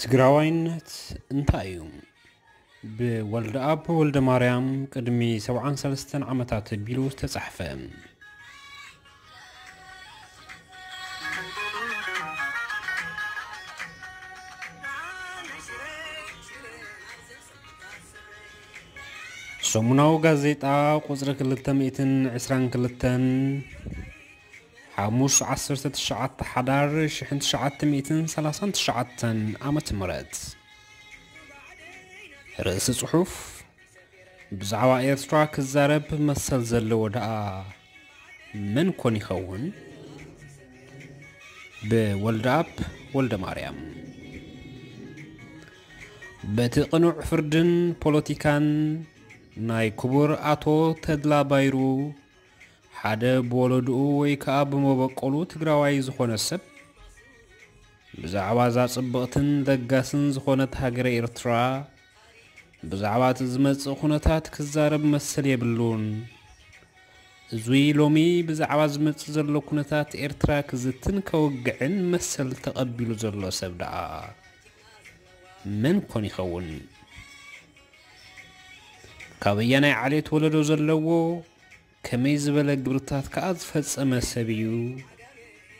ትግራዋይነት እንታይ እዩ? ብወልደኣብ ወልደማርያም፣ ቅድሚ ሰብዓን ሰለስተን ዓመታት ኣቢሉ ዝተጻሕፈ። ሰሙናዊ ጋዜጣ ቁጽሪ ክልተ ሚእትን ዕስራን ክልተን፣ ሓሙስ ዓሰርተ ትሽዓተ ሓዳር ሽሕን ትሽዓተ ሚእትን ሰላሳን ትሽዓተን ዓመተ ምህረት። ርእሲ ጽሑፍ፣ ብዛዕባ ኤርትራ ክዛረብ መሰል ዘለዎ ደኣ መን ኮን ይኸውን? ብወልደኣብ ወልደማርያም። በቲ ቅኑዕ ፍርድን ፖለቲካን ናይ ክቡር ኣቶ ተድላ ባይሩ፣ ሓደ ብወለድኡ ወይ ከኣ ብመበቆሉ ትግራዋይ ዝኾነ ሰብ፣ ብዛዕባ እዛ ጽብቕትን ለጋስን ዝኾነት ሃገረ ኤርትራ፣ ብዛዕባ እቲ ዝመጽእ ኩነታት ክዛረብ መሰል የብሉን። እዙይ ሎሚ ብዛዕባ ዝመጽእ ዘሎ ኩነታት ኤርትራ ክዝትን ከውግዕን መሰል ተቐቢሉ ዘሎ ሰብ ደኣ መን ኮን ይኸውን? ካበየናይ ዓሌት ወለዶ ዘለዎ፣ ከመይ ዝበለ ግብርታት ከኣ ዝፈጸመ ሰብ እዩ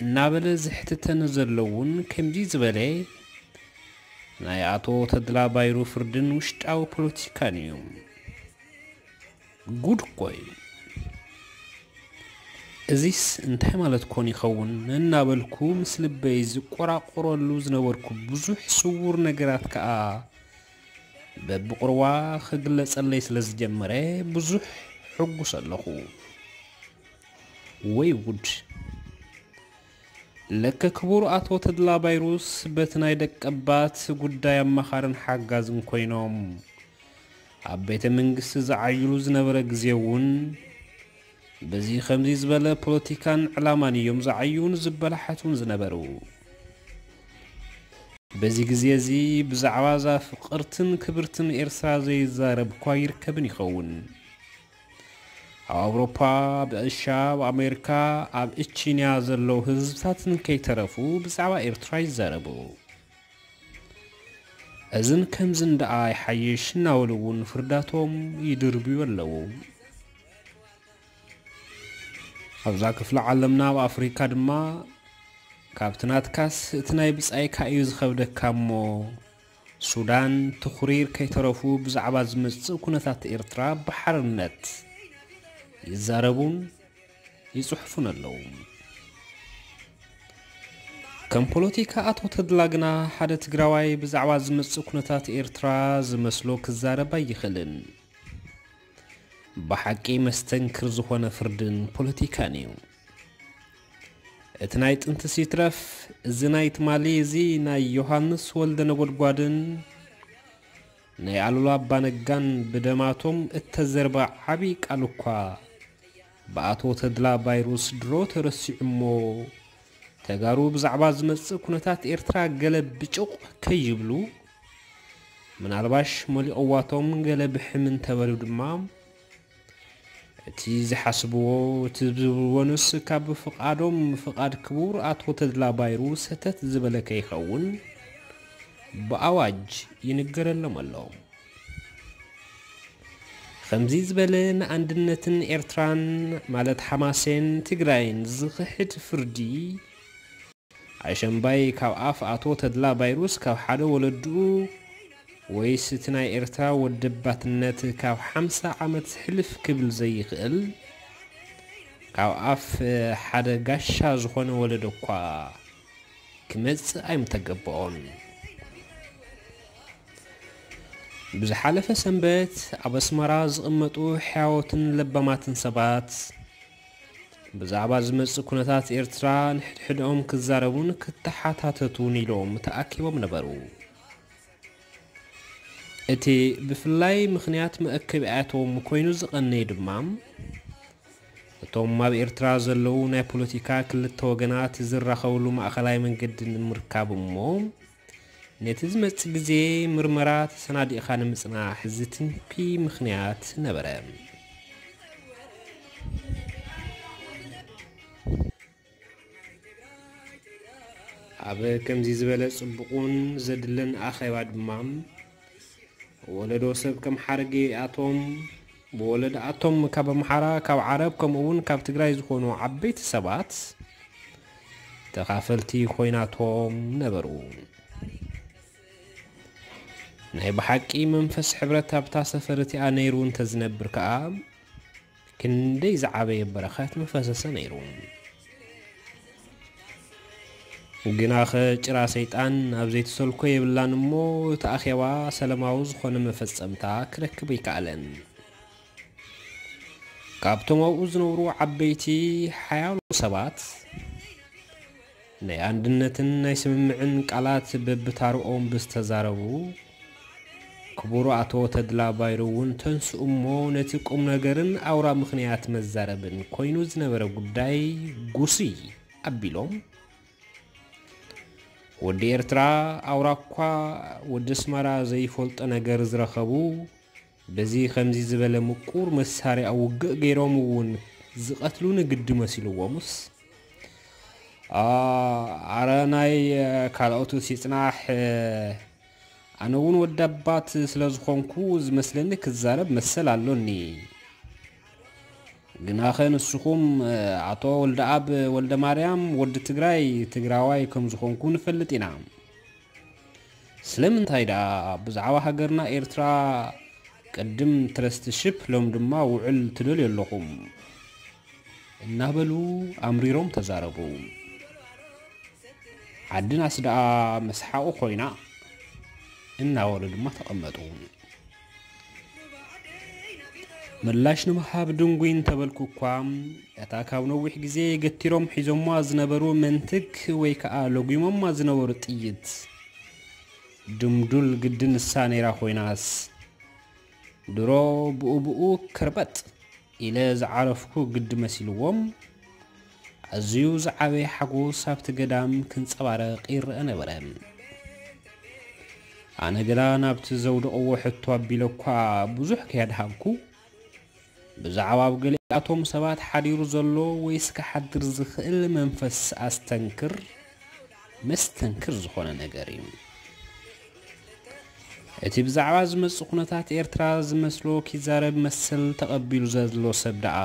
እናበለ ዝሕትተኒ ዘሎ እውን ከምዚ ዝበለ ናይ ኣቶ ተድላ ባይሩ ፍርድን ውሽጣዊ ፖለቲካን እዩ። ጉድ እኮ እዩ። እዚስ እንታይ ማለት ኮን ይኸውን እናበልኩ ምስ ልበይ ዝቆራቆረሉ ዝነበርኩ ብዙሕ ስዉር ነገራት ከኣ በብቑርዋ ክግለጸለይ ስለ ዝጀመረ ብዙሕ ሕጉስ ኣለኹ። ወይ ጉድ! ለከ ክቡር ኣቶ ተድላ ባይሩስ በቲ ናይ ደቀባት ጉዳይ ኣማኻርን ሓጋዝን ኮይኖም ኣብ ቤተ መንግስቲ ዝዓይሉ ዝነበረ ግዜ እውን በዚ ከምዚ ዝበለ ፖለቲካን ዕላማን እዮም ዝዓዩን ዝበላሓቱን ዝነበሩ። በዚ ግዜ እዚ ብዛዕባ እዛ ፍቕርትን ክብርትን ኤርትራ ዘይዛረብ እኳ ይርከብን ይኸውን። ኣብ ኣውሮፓ፣ ኣብ እስያ፣ ኣብ ኣሜሪካ፣ ኣብ እቺንያ ዘለዉ ህዝብታትን ከይተረፉ ብዛዕባ ኤርትራ ይዛረቡ። እዝን ከምዝን ደኣ ይሓይሽ እናበሉ እውን ፍርዳቶም ይድርብዩ ኣለዉ። ኣብዛ ክፍለ ዓለምና ኣብ ኣፍሪካ ድማ ካብቲ ናትካስ እቲ ናይ ብጻይካ እዩ ዝኸብደካ እሞ፣ ሱዳን፣ ትኹሪር ከይተረፉ ብዛዕባ ዝመጽእ ኩነታት ኤርትራ ብሓርነት ይዛረቡን ይጽሕፉን ኣለዉ። ከም ፖለቲካ ኣቶ ተድላ ግና ሓደ ትግራዋይ ብዛዕባ ዝመጽእ ኩነታት ኤርትራ ዝመስሎ ክዛረብ ኣይኽእልን። ብሓቂ መስተንክር ዝኾነ ፍርድን ፖለቲካን እዩ። እቲ ናይ ጥንትስ ይትረፍ፣ እዚ ናይ ትማሊ እዚ ናይ ዮሃንስ ወልደ ነጎድጓድን ናይ ኣሉላ ኣባነጋን ብደማቶም እተዘርበ ዓቢ ቃል እኳ ብኣቶ ተድላ ባይሩስ ድሮ ተረሲዑ እሞ፣ ተጋሩ ብዛዕባ ዝመጽእ ኩነታት ኤርትራ ገለ ብጩቕ ከይብሉ፣ ምናልባሽ ሞሊቕዋቶም ገለ ብሕም እንተበሉ ድማ፣ እቲ ዝሓስብዎ፣ እቲ ዝብልዎ ንስ ካብ ፍቓዶም፣ ፍቓድ ክቡር ኣቶ ተድላ ባይሩ ሰተት ዝበለ ከይኸውን ብኣዋጅ ይንገረሎም ኣሎ። ከምዚ ዝበለ ንኣንድነትን ኤርትራን፣ ማለት ሓማሴን ትግራይን ዝኽሕድ ፍርዲ፣ ኣሸምባይ ካብ ኣፍ ኣቶ ተድላ ባይሩስ ካብ ሓደ ወለድኡ፣ ወይስ እቲ ናይ ኤርትራ ወደባትነት ካብ ሓምሳ ዓመት ሕልፍ ክብል ዘይኽእል፣ ካብ ኣፍ ሓደ ጋሻ ዝኾነ ወለዶ እኳ ክመጽእ ኣይምተገበኦን። ብዝሓለፈ ሰንበት ኣብ ኣስመራ ዝቕመጡ ሕያዎትን ለባማትን ሰባት ብዛዕባ ዝመጽእ ኩነታት ኤርትራ ንሕድሕድኦም ክዛረቡን ክተሓታተቱን ኢሎም ተኣኪቦም ነበሩ። እቲ ብፍላይ ምኽንያት መእከቢኣቶም ኮይኑ ዝቐነየ ድማ፣ እቶም ኣብ ኤርትራ ዘለዉ ናይ ፖለቲካ ክልተ ወገናት ዝራኸብሉ ማእኸላይ መንገዲ ንምርካብ እሞ፣ ነቲ ዝመጽእ ግዜ ምርመራ ተሰናዲእኻ ንምጽናሕ ዝትንኪ ምኽንያት ነበረ። ኣብ ከምዚ ዝበለ ጽቡቕን ዘድልን ኣኼባ ድማ፣ ወለዶ ሰብ ከም ሓረጌ ኣቶም፣ ብወለዶ ኣቶም ካብ ኣምሓራ፣ ካብ ዓረብ፣ ከምኡ እውን ካብ ትግራይ ዝኾኑ ዓበይቲ ሰባት ተኻፈልቲ ኮይናቶም ነበሩ። ናይ ብሓቂ መንፈስ ሕብረት ኣብታ ሰፈር እቲኣ ነይሩ እንተዝነብር ከኣ፣ ክንደይ ዝዓበየ በረኸት ምፈሰሰ ነይሩ። ግናኸ ጭራ ሰይጣን ኣብ ዘይትሰልኮ የብላን እሞ፣ እቲ ኣኼባ ሰላማዊ ዝኾነ መፈጸምታ ክረክብ ኣይከኣለን። ካብቶም ኣብኡ ዝነብሩ ዓበይቲ ሓያሎ ሰባት፣ ናይ ኣንድነትን ናይ ስምምዕን ቃላት በብታርኦም ብዝተዛረቡ፣ ክቡር ኣቶ ተድላ ባይሩ እውን ተንስኡ እሞ፣ ነቲ ቁም ነገርን ኣውራ ምኽንያት መዛረብን ኮይኑ ዝነበረ ጉዳይ ጉስይ ኣቢሎም፣ ወዲ ኤርትራ ኣውራ እኳ ወዲ ኣስመራ ዘይፈልጦ ነገር ዝረኸቡ፣ በዚ ከምዚ ዝበለ ምቁር መሳርያ ውግእ ገይሮም እውን ዝቐትሉኒ ግዲ መሲልዎምስ፣ "ኣ-፣ ኣረ ናይ ካልኦቱ ሲጽናሕ፣ ኣነ እውን ወዲ ኣባት ስለ ዝኾንኩ ዝመስለኒ ክዛረብ መሰል ኣሎኒ። ግናኸ ንስኹም፣ ኣቶ ወልደኣብ ወልደ ማርያም፣ ወዲ ትግራይ፣ ትግራዋይ ከም ዝኾንኩ ንፈልጥ ኢና። ስለምንታይ ደኣ ብዛዕባ ሃገርና ኤርትራ ቅድም ትረስትሽፕ ሎም ድማ ውዕል ትደልዩ ኣለኹም?" እናበሉ ኣምሪሮም ተዛረቡ። ዓድናስ ደኣ መስሓቑ ኮይና፣ እናበሉ ድማ ተቐመጡ። ምላሽ ንምሃብ ድንጉይ እንተበልኩ እኳ፣ እታ ካብ ነዊሕ ግዜ ገቲሮም ሒዞማ ዝነበሩ መንትግ ወይ ከኣ ለጒሞማ ዝነበሩ ጥይት ድምዱል ግዲ ንሳ ነይራ ኮይናስ፣ ድሮ ብኡ ብኡ ከርበጥ ኢለ ዝዓረፍኩ ግዲ መሲልዎም፣ ኣዝዩ ዝዓበየ ሓጎስ ኣብቲ ገዳም ክንጸባረቕ ይረአ ነበረ። ኣነ ግና ናብቲ ዘውደቕዎ ሕቶ ኣቢለ እኳ ብዙሕ ከየድሃብኩ፣ ብዛዕባ ኣብ ገሊኣቶም ሰባት ሓዲሩ ዘሎ ወይስ ክሓድር ዝኽእል መንፈስ ኣስተንክር፣ መስተንክር ዝኾነ ነገር እዩ። እቲ ብዛዕባ ዝመጽእ ኩነታት ኤርትራ ዝመስሎ ኪዛረብ መሰል ተቐቢሉ ዘሎ ሰብ ደኣ፣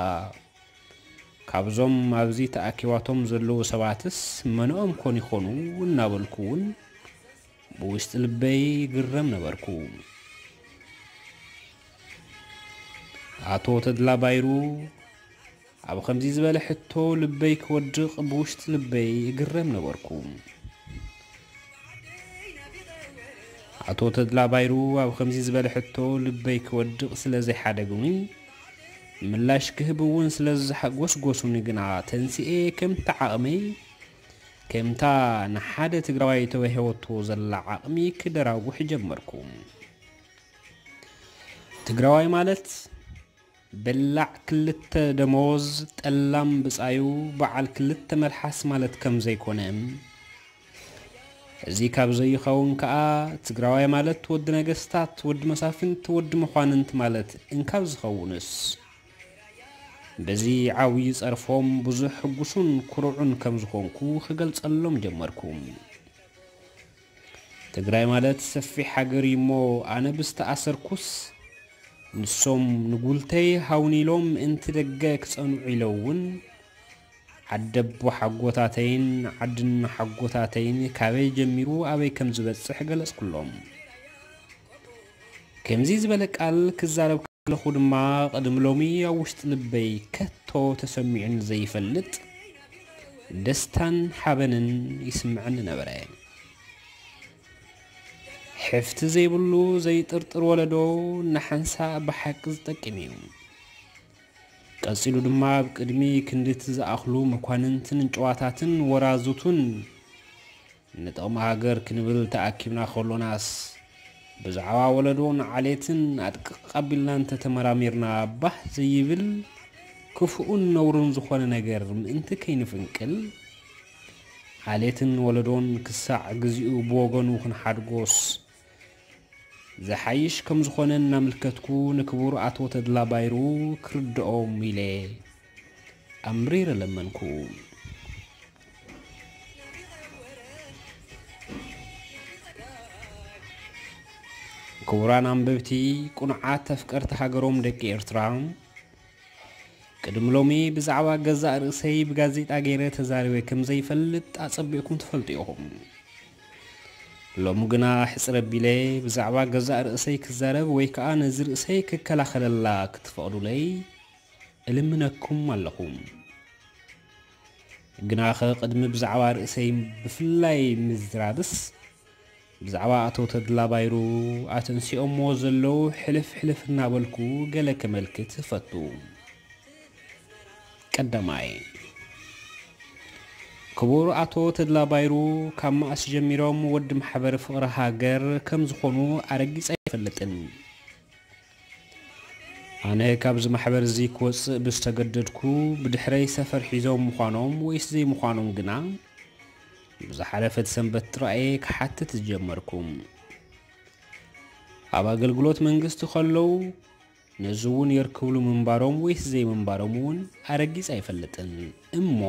ካብዞም ኣብዚ ተኣኪባቶም ዘለዉ ሰባትስ መነኦም ኮን ይኾኑ እናበልኩ እውን ብውሽጢ ልበይ ግረም ነበርኩ። ኣቶ ተድላ ባይሩ ኣብ ከምዚ ዝበለ ሕቶ ልበይ ክወድቕ ብውሽጢ ልበይ እግረም ነበርኩ። ኣቶ ተድላ ባይሩ ኣብ ከምዚ ዝበለ ሕቶ ልበይ ክወድቕ ስለ ዘይሓደጉኒ፣ ምላሽ ክህብ እውን ስለ ዝሓጎስጎሱኒ ግና ተንሲኤ ከምቲ ዓቕመይ፣ ከምታ ንሓደ ትግራዋይ ተዋሂቦቶ ዘላ ዓቕሚ ክደራጉሕ ጀመርኩ። ትግራዋይ ማለት በላዕ ክልተ ደመወዝ፣ ጠላም ብጻዩ፣ በዓል ክልተ መልሓስ ማለት ከም ዘይኮነ፣ እዚ ካብ ዘይኸውን ከኣ ትግራዋይ ማለት ወዲ ነገስታት፣ ወዲ መሳፍንት፣ ወዲ መኳንንት ማለት እንካብ ዝኸውንስ፣ በዚ ዓብዪ ጸርፎም ብዙሕ ሕጉሱን ኩሩዑን ከም ዝኾንኩ ክገልጸሎም ጀመርኩ። ትግራይ ማለት ሰፊሕ ሃገር እዩ እሞ፣ ኣነ ብዝተኣሰርኩስ፣ ንሶም ንጉልተይ ሃውኒ ኢሎም ምእንቲ ደገ ክጸንዑ ኢለ እውን፣ ዓደቦ ሓጎታተይን ዓድን ሓጎታተይን ካበይ ጀሚሩ ኣበይ ከም ዝበጽሕ ገለጽኩሎም። ከምዚ ዝበለ ቃል ክዛረብ ከለኹ ድማ፣ ቅድሚ ሎሚ ኣብ ውሽጢ ልበይ ከቶ ተሰሚዑኒ ዘይፈልጥ ደስታን ሓበንን ይስምዐኒ ነበረ። ሕፍቲ ዘይብሉ ዘይጥርጥር ወለዶ ንሓንሳእ ብሓቂ ዝጠቅም እዩ። ቀጺሉ ድማ ኣብ ቅድሚ ክንድቲ ዝኣኽሉ መኳንንትን ጭዋታትን ወራዙቱን ንጥቕሚ ሃገር ክንብል ተኣኪብና ከሎናስ፣ ብዛዕባ ወለዶን ዓሌትን ኣድቅቕ ኣቢልና እንተተመራሚርና ባህ ዘይብል ክፉእን ነውርን ዝኾነ ነገር ምእንቲ ከይንፍንቅል፣ ዓሌትን ወለዶን ክሳዕ ግዚኡ ብወገኑ ክንሓድጎስ ዝሓይሽ ከም ዝኾነ እናምልከትኩ ንክቡር ኣቶ ተድላ ባይሩ ክርድኦም ኢለ ኣምሪረ ለመንኩ። ክቡራን ኣንበብቲ፣ ቅኑዓት ኣፍቀርቲ ሃገሮም ደቂ ኤርትራ፣ ቅድሚ ሎሚ ብዛዕባ ገዛእ ርእሰይ ብጋዜጣ ገይረ ተዛሪበ ከም ዘይፈልጥ ኣጸቢቕኩም ትፈልጡ ኢኹም። ሎሚ ግና ሕጽር ኣቢለ ብዛዕባ ገዛእ ርእሰይ ክዛረብ ወይ ከኣ ነዚ ርእሰይ ክከላኸለላ ክትፈቕዱለይ እልምነኩም ኣለኹ። ግናኸ ቅድሚ ብዛዕባ ርእሰይ ብፍላይ ምዝራብስ፣ ብዛዕባ ኣቶ ተድላ ባይሩ ኣተንሲኦሞ ዘለዉ ሕልፍ ሕልፍ እናበልኩ ገለ ከመልክት እፈቱ። ቀዳማይ፣ ክቡር ኣቶ ተድላ ባይሩ ካብ መኣስ ጀሚሮም ወዲ ማሕበር ፍቕሪ ሃገር ከም ዝኾኑ ኣረጊጸ ኣይፈልጥን። ኣነ ካብዚ ማሕበር እዚ ክወጽእ ብዝተገደድኩ፣ ብድሕረይ ሰፈር ሒዞም ምዃኖም ወይስ ዘይምዃኖም ግና ብዝሓለፈት ሰንበት ጥራይ ክሓትት ዝጀመርኩ። ኣብ ኣገልግሎት መንግስቲ ከለዉ ነዚ እውን የርክብሉ ምንባሮም ወይስ ዘይምንባሮም እውን ኣረጊጽ ኣይፈልጥን። እሞ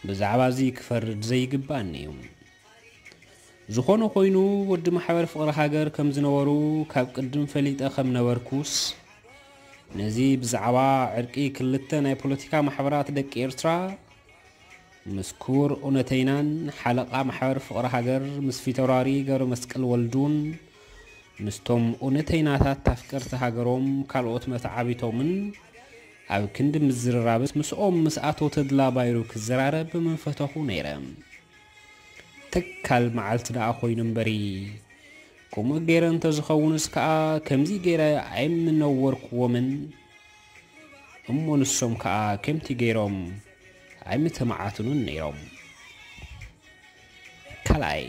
ብዛዕባ እዚ ክፈርድ ዘይግባእኒ እዩ። ዝኾነ ኮይኑ፣ ወዲ ማሕበር ፍቕሪ ሃገር ከም ዝነበሩ ካብ ቅድም ፈሊጠ ከም ነበርኩስ፣ ነዚ ብዛዕባ ዕርቂ ክልተ ናይ ፖለቲካ ማሕበራት ደቂ ኤርትራ ምስ ክቡር እውነተይናን ሓለቓ ማሕበር ፍቕሪ ሃገር ምስ ፊተውራሪ ገብረ መስቀል ወልዱን ምስቶም እውነተይናታት ኣፍቀርቲ ሃገሮም ካልኦት መተዓቢቶምን ኣብ ክንዲ ምዝርራብስ ምስኦም ምስ ኣቶ ተድላ ባይሩ ክዘራረብ ምፈተኹ ነይረ። ተካል መዓልቲ ደኣ ኮይኑ እምበሪ፣ ከምኡ ገይረ እንተዝኸውንስ ከኣ ከምዚ ገይረ ኣይምነወርክዎምን። እሞ ንሶም ከኣ ከምቲ ገይሮም ኣይምተመዓትኑን ነይሮም። ካልኣይ፣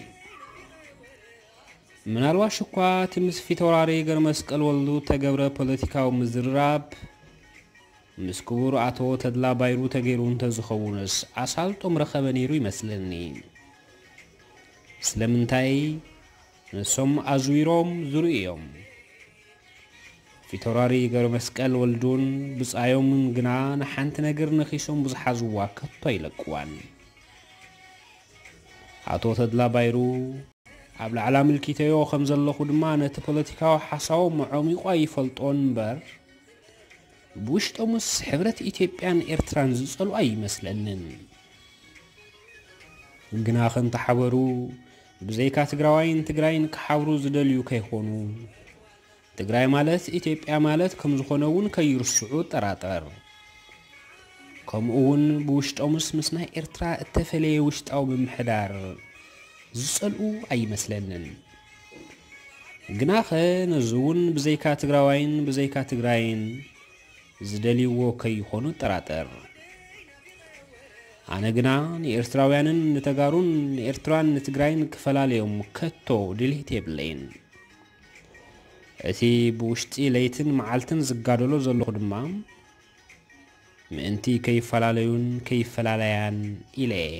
ምናልባሽ እኳ እቲ ምስ ፊተውራሪ ገርመስቀል ወልዱ ተገብረ ፖለቲካዊ ምዝርራብ ምስ ክቡር ኣቶ ተድላ ባይሩ ተገይሩ እንተዝኸውንስ ኣሳልጦም ረኸበ ነይሩ ይመስለኒ። ስለምንታይ ንሶም ኣዝዊሮም ዝርእዩ እዮም። ፊተውራሪ ገርመስቀል ወልዱን ብጻዮምን ግና ንሓንቲ ነገር ነኺሶም ብዝሓዝዋ ከቶ ኣይለቅዋን። ኣቶ ተድላ ባይሩ ኣብ ላዕላ ምልኪተዮ ከም ዘለኹ ድማ ነቲ ፖለቲካዊ ሓሳቦም ኣዕሚቑ ኣይፈልጦን እምበር፣ ብውሽጦምስ ሕብረት ኢትዮጵያን ኤርትራን ዝጸልኡ ኣይመስለንን። ግና ከምቲ ሓበሩ ብዘይካ ትግራዋይን ትግራይን ክሓብሩ ዝደልዩ ከይኾኑ፣ ትግራይ ማለት ኢትዮጵያ ማለት ከም ዝኾነ እውን ከይርስዑ እጠራጠር። ከምኡ እውን ብውሽጦምስ ምስ ናይ ኤርትራ እተፈለየ ውሽጣዊ ምምሕዳር ዝጸልኡ ኣይመስለንን። ግናኸ ነዚ እውን ብዘይካ ትግራዋይን ብዘይካ ትግራይን ዝደልይዎ ከይኾኑ እጠራጠር። ኣነ ግና ንኤርትራውያንን ንተጋሩን ንኤርትራን ንትግራይን ክፈላለዮም ከቶ ድሌት የብለይን። እቲ ብውሽጢ ለይትን መዓልትን ዝጋደሎ ዘለኹ ድማ ምእንቲ ከይፈላለዩን ከይፈላለያን ኢለ እየ።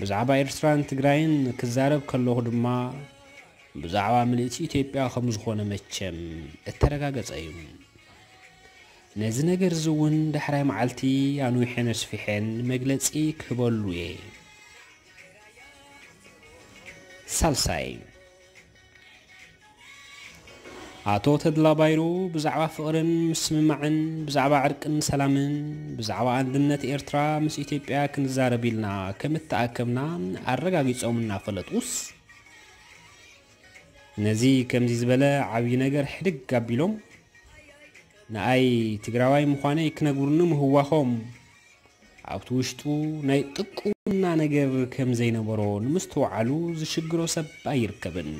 ብዛዕባ ኤርትራን ትግራይን ክዛረብ ከለኹ ድማ ብዛዕባ ምልእቲ ኢትዮጵያ ከም ዝኾነ መቸም እተረጋገጸ እዩ። ነዚ ነገር እዚ እውን ዳሕራይ መዓልቲ ኣንዊሐን ኣስፊሐን መግለጺ ክህበሉ እየ። ሳልሳይ፣ ኣቶ ተድላ ባይሩ ብዛዕባ ፍቕርን ምስምማዕን፣ ብዛዕባ ዕርቅን ሰላምን፣ ብዛዕባ ኣንድነት ኤርትራ ምስ ኢትዮጵያ ክንዛረብ ኢልና ከም እተኣከብና ኣረጋጊጾም እናፈለጡስ፣ ነዚ ከምዚ ዝበለ ዓብዪ ነገር ሕድግ ኣቢሎም፣ ንኣይ ትግራዋይ ምዃነይ ክነግሩኒ ምህዋኾም፣ ኣብቲ ውሽጡ ናይ ጥቁና ነገር ከም ዘይነበሮ ንምስትውዓሉ ዝሽግሮ ሰብ ኣይርከብን።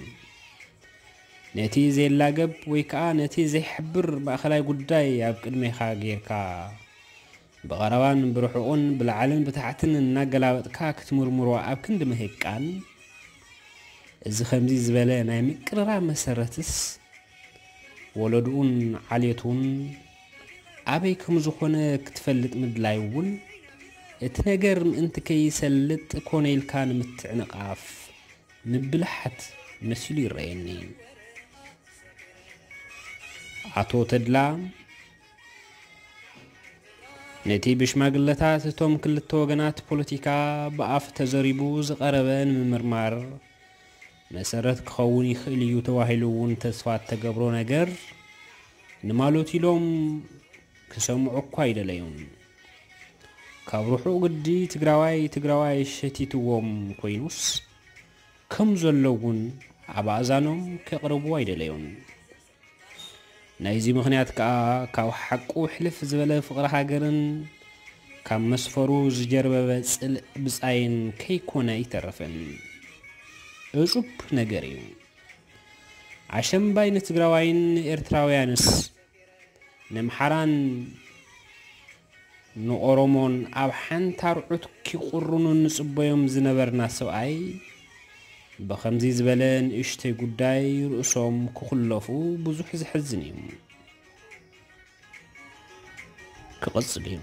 ነቲ ዘይላገብ ወይ ከኣ ነቲ ዘይሕብር ማእኸላይ ጉዳይ ኣብ ቅድሜኻ ጌርካ፣ ብቐረባን ብርሑቕን ብላዕልን ብታሕትን እናገላበጥካ ክትምርምሮ ኣብ ክንዲ ምህቃን፣ እዚ ከምዚ ዝበለ ናይ ምቅርራብ መሰረትስ ወለድኡን ዓሌቱን ኣበይ ከም ዝኾነ ክትፈልጥ ምድላይ እውን፣ እቲ ነገር ምእንቲ ከይሰልጥ ኮነ ኢልካ ንምትዕንቓፍ ምብልሓት መሲሉ ይረኣየኒ። ኣቶ ተድላ ነቲ ብሽማግለታት እቶም ክልተ ወገናት ፖለቲካ ብኣፍ ተዘሪቡ ዝቐረበ ንምምርማር መሰረት ክኸውን ይኽእል እዩ ተባሂሉ እውን ተስፋ እተገብሮ ነገር ንማሎት ኢሎም ክሰምዑ እኳ ኣይደለዩን። ካብ ርሑቕ ግዲ ትግራዋይ ትግራዋይ ሸቲትዎም ኮይኑስ ከም ዘሎ እውን ኣብ ኣእዛኖም ከቕርቡ ኣይደለዩን። ናይዚ ምኽንያት ከኣ ካብ ሓቁ ሕልፍ ዝበለ ፍቕሪ ሃገርን ካብ መስፈሩ ዝጀርበበ ጽልእ ብጻይን ከይኮነ ኣይተረፈን። እጹብ ነገር እዩ። ኣሸምባይ ንትግራዋይን ንኤርትራውያንስ፣ ንምሓራን ንኦሮሞን ኣብ ሓንቲ ኣርዑት ኪቑርኑ ንጽበዮም ዝነበርና ሰብኣይ፣ ብኸምዚ ዝበለ ንእሽተይ ጉዳይ ርእሶም ክኹለፉ ብዙሕ ዘሕዝን እዩ። ክቕጽል እዩ።